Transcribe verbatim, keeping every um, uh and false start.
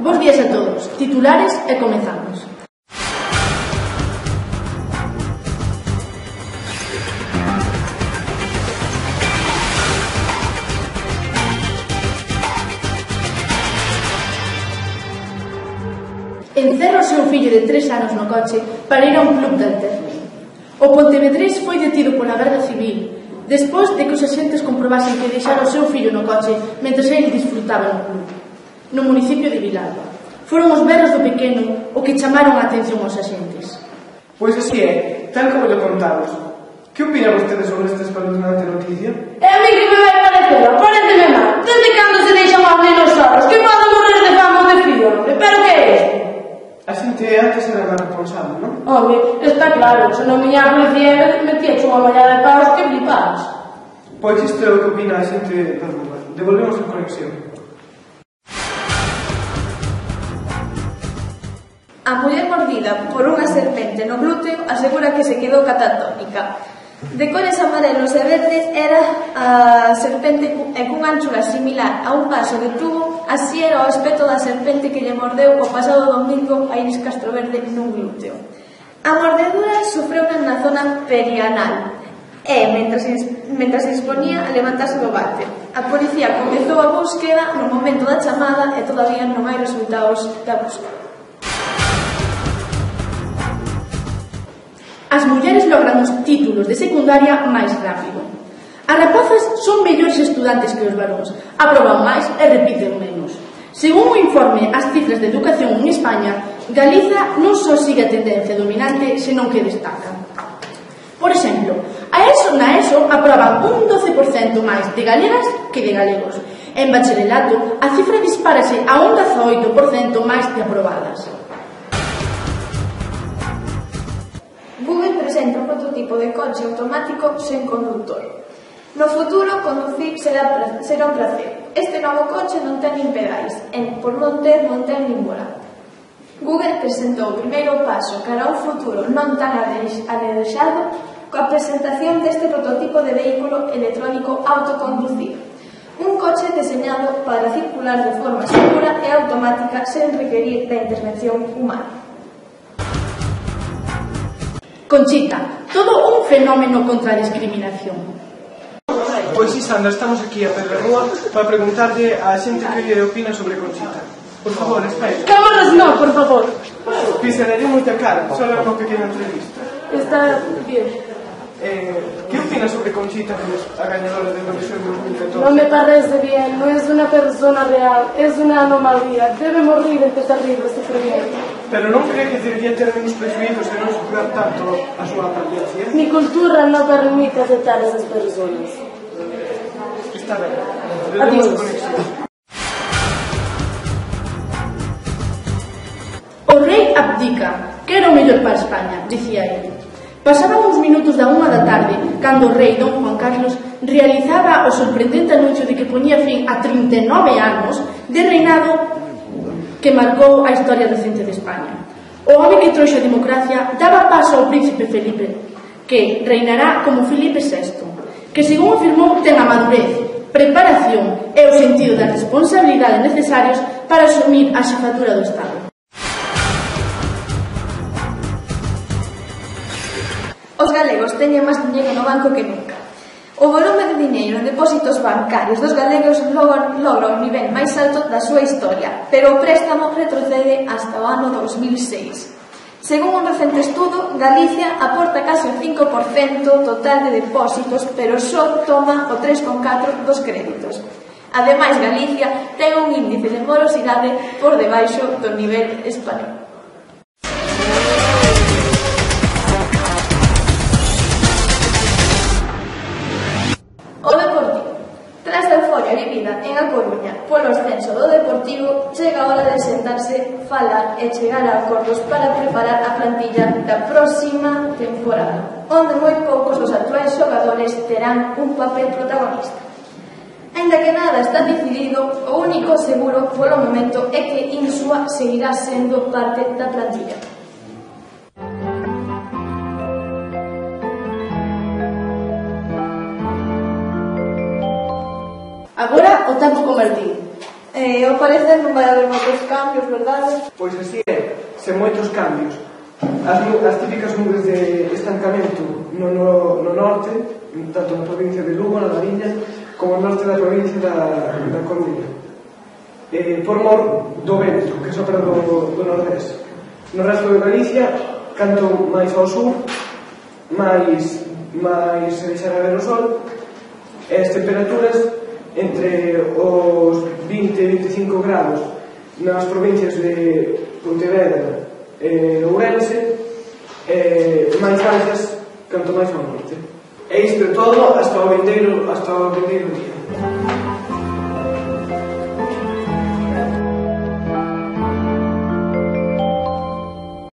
Bos días a todos, titulares e comezamos. Encerra o seu fillo de tres anos no coche para ir a un club de alterno. O pontevedrés foi detido pola Garda Civil despois de que os axentes comprobasen que deixara o seu fillo no coche mentres ele disfrutaba no club, no municipio de Vilalba. Foron os berros do pequeno o que chamaron a atención aos axentes. Pois así é, tal como lle contamos. Que opina vostede sobre esta espeluznante noticia? E a mí que me vai parecer, paréceme mal. Desde cando se deixan aos nenos solos, que poden morrer de fama ou de frío? Pero que é isto? A xente antes era máis responsable, non? Home, está claro, se non viña a policía metíache unha mallada de paus que flipas. Pois isto é o que opina a xente do lugar. Devolvemos a conexión. A muller mordida por unha serpente no glúteo asegura que se quedou catatónica. De cores amarelos e verdes era a serpente e cunha anchura similar a un vaso de tubo. Así era o aspecto da serpente que lle mordeu o pasado domingo a Iris Castroverde nun glúteo. A mordedura sofreu na zona perianal e, mentras, mentras se exponía a levantarse do váter. A policía comezou a búsqueda no momento da chamada e todavía non hai resultados da búsqueda. As mulleres logran os títulos de secundaria máis rápido. As rapazas son mellores estudantes que os varóns, aproban máis e repiten menos. Según o informe As cifras de educación en España, Galiza non só sigue a tendencia dominante, senón que destaca. Por exemplo, a ESO na ESO aproban un doce por cento máis de galegas que de galegos. En bacharelato, a cifra dispárase a un dezaoito por cento máis de aprobadas. Google presenta un prototipo de coche automático sen conductor. No futuro, conducir será, será un placer. Este novo coche non ten nin pedais, e por non ter, non ten nin volante. Google presentou o primeiro paso cara a un futuro non tan alexado coa presentación deste prototipo de vehículo electrónico autoconducido. Un coche deseñado para circular de forma segura e automática sen requerir da intervención humana. Conchita, todo un fenómeno contra a discriminación. Pois sí, Sandra, estamos aquí a Pedra Rúa para preguntarlle a xente que opina sobre Conchita. Por favor, espera. Cámaras no, por favor. Que se le dio moita cara, só era unha pequena entrevista. Está bien. Eh, que opina sobre Conchita, que es a gañadora de Eurovisión dos mil catorce? No me parece bien, no es una persona real, es una anomalía. Debe morir este terrible sufrimiento. Pero non cree que debería ter menos prejuízos e non sufrir tanto a súa apariencia? Mi cultura no permite aceptar a esas personas. Está ben. Adiós. O rei abdica, que era o mellor para España, dicía ele. Pasaban uns minutos da unha da tarde cando o rei don Juan Carlos realizaba o sorprendente anuncio de que poñía fin a trinta e nove anos de reinado que marcou a historia recente de España. O home que trouxe a democracia daba paso ao príncipe Felipe, que reinará como Felipe sexto, que, según afirmou, ten a madurez, preparación e o sentido da responsabilidade necesarios para asumir a xefatura do Estado. Os galegos teñen máis dinheiro no banco que nunca. O volume de diñeiro en depósitos bancarios dos galegos logra, logra o nivel máis alto da súa historia, pero o préstamo retrocede hasta o ano dos mil seis. Según un recente estudo, Galicia aporta case o cinco por cento total de depósitos, pero só toma o tres coma catro por cento dos créditos. Ademais, Galicia ten un índice de morosidade por debaixo do nivel español. O Deportivo. Tras a euforia vivida en A Coruña polo ascenso do Deportivo, chega a hora de sentarse, falar e chegar a acordos para preparar a plantilla da próxima temporada, onde moi poucos dos actuais xogadores terán un papel protagonista. Aínda que nada está decidido, o único seguro polo momento é que Insua seguirá sendo parte da plantilla. Agora o tempo con Martín. Eh, ao parecer non vai haber moitos cambios, verdade? Pois así é, sen moitos cambios. As, as típicas nubes de estancamento no, no, no norte, tanto na provincia de Lugo, na Mariña, como no norte da provincia da, da Coruña. Eh, por mor do vento, que sopra do, do nordés. No resto de Galicia, canto máis ao sur, máis, máis se deixará ver o sol, e as temperaturas entre os vinte e veinticinco grados nas provincias de Pontevedra e Ourense, e máis altas canto máis ao norte. E isto é todo hasta o vindeiro, hasta o vindeiro día.